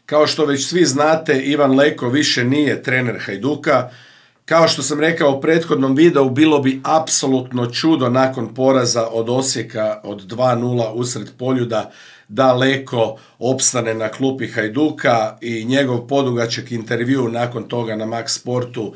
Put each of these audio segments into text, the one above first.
Kao što već svi znate, Ivan Leko više nije trener Hajduka. Kao što sam rekao u prethodnom videu, bilo bi apsolutno čudo nakon poraza od Osijeka od 2:0 usred Poljuda da Leko opstane na klupi Hajduka i njegov podugačak intervju nakon toga na Max Sportu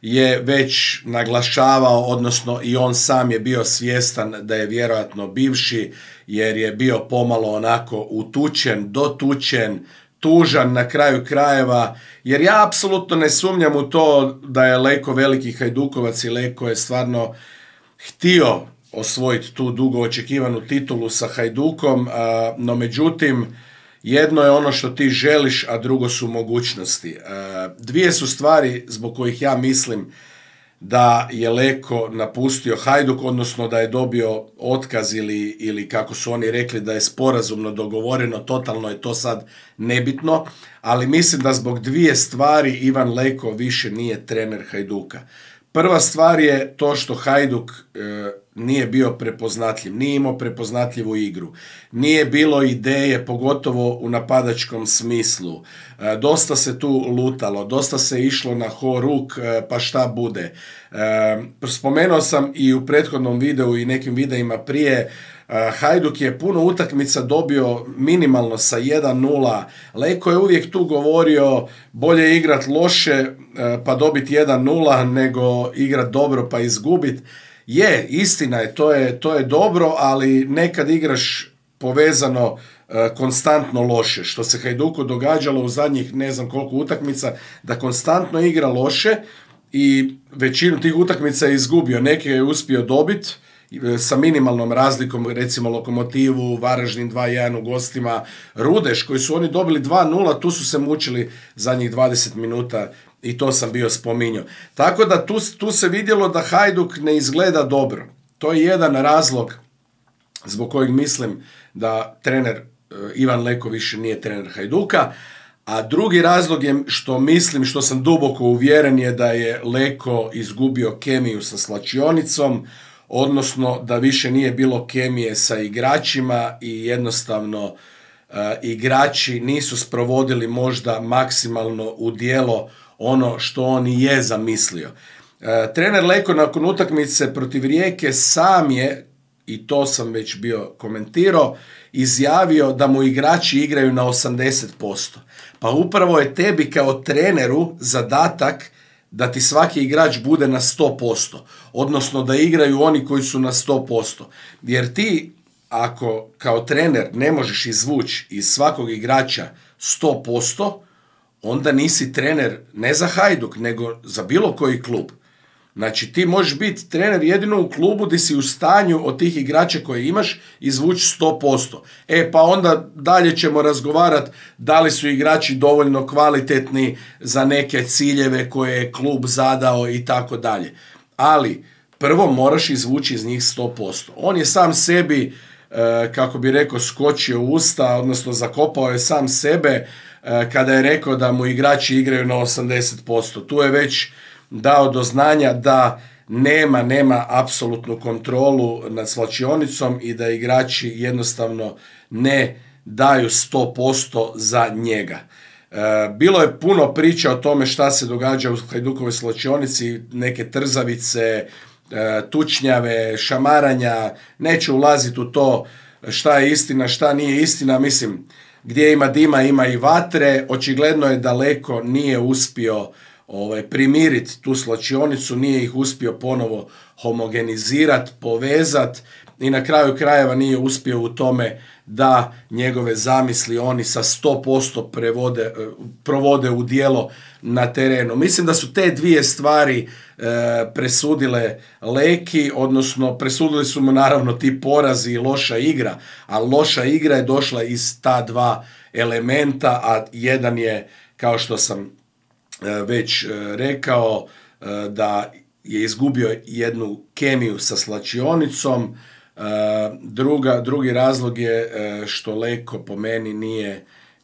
je već naglašavao, odnosno i on sam je bio svjestan da je vjerojatno bivši, jer je bio pomalo onako utučen, dotučen, tužan na kraju krajeva, jer ja apsolutno ne sumnjam u to da je Leko veliki Hajdukovac i Leko je stvarno htio osvojiti tu dugo očekivanu titulu sa Hajdukom, no međutim, jedno je ono što ti želiš, a drugo su mogućnosti. Dvije su stvari zbog kojih ja mislim da je Leko napustio Hajduk, odnosno da je dobio otkaz ili kako su oni rekli da je sporazumno dogovoreno, totalno je to sad nebitno, ali mislim da zbog dvije stvari Ivan Leko više nije trener Hajduka. Prva stvar je to što Hajduk nije bio prepoznatljiv, nije imao prepoznatljivu igru, nije bilo ideje, pogotovo u napadačkom smislu. Dosta se tu lutalo, dosta se išlo na horuk, pa šta bude. Spomenuo sam i u prethodnom videu i nekim videima prije, Hajduk je puno utakmica dobio minimalno sa 1:0. Leko je uvijek tu govorio bolje igrat loše pa dobiti 1:0 nego igrat dobro pa izgubit. Je, istina je, to je dobro, ali nekad igraš povezano konstantno loše, što se Hajduku događalo u zadnjih ne znam koliko utakmica, da konstantno igra loše i većinu tih utakmica je izgubio, neke je uspio dobiti sa minimalnom razlikom, recimo Lokomotivu, Varaždin 2:1 u gostima, Rudeš koji su oni dobili 2:0, tu su se mučili zadnjih 20 minuta i to sam bio spominjao. Tako da tu se vidjelo da Hajduk ne izgleda dobro. To je jedan razlog zbog kojeg mislim da trener Ivan Leko više nije trener Hajduka, a drugi razlog je što mislim, što sam duboko uvjeren je da je Leko izgubio kemiju sa slačionicom, odnosno da više nije bilo kemije sa igračima i jednostavno igrači nisu sprovodili možda maksimalno u djelo ono što on i je zamislio. Trener Leko nakon utakmice protiv Rijeke sam je, i to sam već bio komentirao, izjavio da mu igrači igraju na 80%. Pa upravo je tebi kao treneru zadatak da ti svaki igrač bude na 100%, odnosno da igraju oni koji su na 100%. Jer ti, ako kao trener ne možeš izvući iz svakog igrača 100%, onda nisi trener ne za Hajduk, nego za bilo koji klub. Znači ti možeš biti trener jedino u klubu gdje si u stanju od tih igrača koje imaš izvući 100%. Pa onda dalje ćemo razgovarati da li su igrači dovoljno kvalitetni za neke ciljeve koje je klub zadao i tako dalje. Ali prvo moraš izvući iz njih 100%. On je sam sebi, kako bi rekao, skočio u usta, odnosno zakopao je sam sebe kada je rekao da mu igrači igraju na 80%. Tu je već dao do znanja da nema apsolutnu kontrolu nad slačionicom i da igrači jednostavno ne daju 100% za njega. Bilo je puno priča o tome šta se događa u Hajdukovoj slačionici, neke trzavice, tučnjave, šamaranja, neću ulaziti u to šta je istina, šta nije istina, mislim, gdje ima dima ima i vatre. Očigledno je da Leko nije uspio primiriti tu slačionicu, nije ih uspio ponovo homogenizirati, povezati i na kraju krajeva nije uspio u tome da njegove zamisli oni sa 100% provode u djelo na terenu. Mislim da su te dvije stvari presudile Leki, odnosno presudili su mu naravno ti porazi i loša igra, a loša igra je došla iz ta dva elementa, a jedan je, kao što sam već rekao, da je izgubio jednu kemiju sa slačionicom. Drugi razlog je što Leko po meni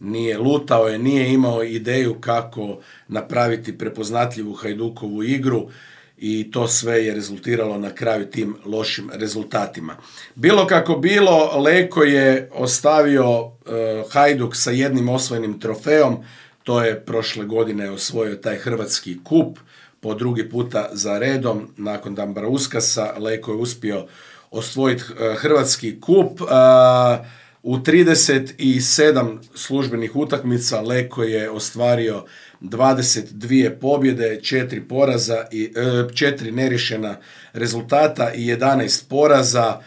nije lutao je, nije imao ideju kako napraviti prepoznatljivu Hajdukovu igru i to sve je rezultiralo na kraju tim lošim rezultatima. Bilo kako bilo, Leko je ostavio Hajduk sa jednim osvojenim trofejom, to je prošle godine osvojio taj hrvatski kup, po drugi puta za redom, nakon Dambrauskasa, Leko je uspio osvojiti hrvatski kup. U 37 službenih utakmica Leko je ostvario 22 pobjede, 4 poraza i 4 neriješena rezultata i 11 poraza.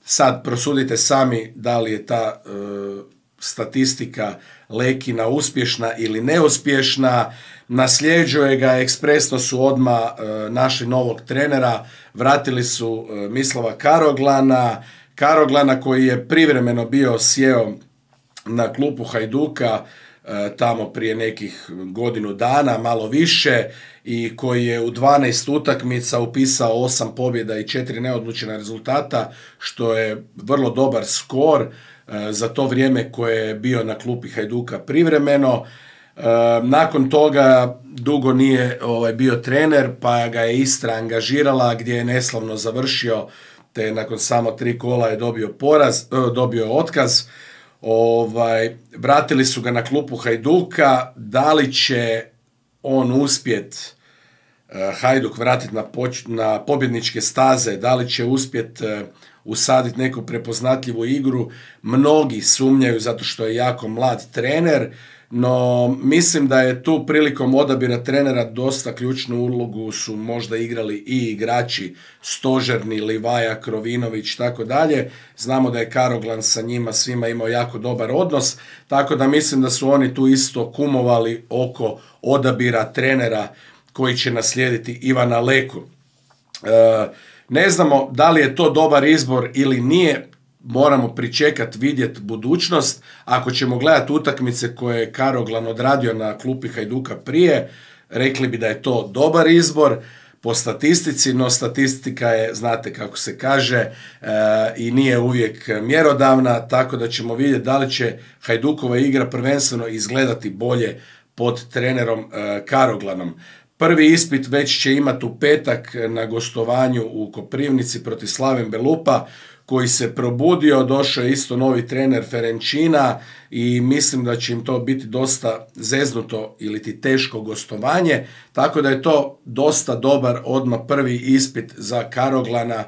Sad prosudite sami da li je ta statistika Lekina uspješna ili neuspješna. Nasljeđuje ga, ekspresno su odmah našli novog trenera, vratili su Mislava Karoglana koji je privremeno bio sjeo na klupu Hajduka tamo prije nekih godinu dana, malo više, i koji je u 12 utakmica upisao 8 pobjeda i 4 neodlučena rezultata, što je vrlo dobar skor za to vrijeme koje je bio na klupi Hajduka privremeno. Nakon toga dugo nije bio trener, pa ga je Istra angažirala gdje je neslavno završio, te nakon samo 3 kola je dobio otkaz. Vratili su ga na klupu Hajduka. Da li će on uspjet Hajduk vratiti na pobjedničke staze, da li će uspjet usaditi neku prepoznatljivu igru, mnogi sumnjaju zato što je jako mlad trener, no mislim da je tu prilikom odabira trenera dosta ključnu ulogu su možda igrali i igrači stožerni, Livaja, Krovinović, tako dalje. Znamo da je Karoglan sa njima svima imao jako dobar odnos, tako da mislim da su oni tu isto kumovali oko odabira trenera koji će naslijediti Ivana Leku. Ne znamo da li je to dobar izbor ili nije, moramo pričekati, vidjeti budućnost. Ako ćemo gledati utakmice koje je Karoglan odradio na klupi Hajduka prije, rekli bi da je to dobar izbor po statistici, no statistika je, znate kako se kaže, i nije uvijek mjerodavna, tako da ćemo vidjeti da li će Hajdukova igra prvenstveno izgledati bolje pod trenerom Karoglanom. Prvi ispit već će imati u petak na gostovanju u Koprivnici protiv Slaven Belupa, koji se probudio, došao je isto novi trener Ferenčina i mislim da će im to biti dosta zeznuto ili ti teško gostovanje, tako da je to dosta dobar odmah prvi ispit za Karoglana,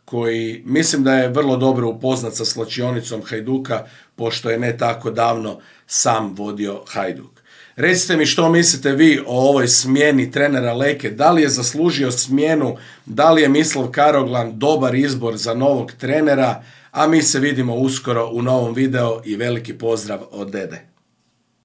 koji mislim da je vrlo dobro upoznat sa slačionicom Hajduka, pošto je ne tako davno sam vodio Hajduk. Recite mi što mislite vi o ovoj smjeni trenera Leke, da li je zaslužio smjenu, da li je Mislav Karoglan dobar izbor za novog trenera, a mi se vidimo uskoro u novom videu i veliki pozdrav od Dede.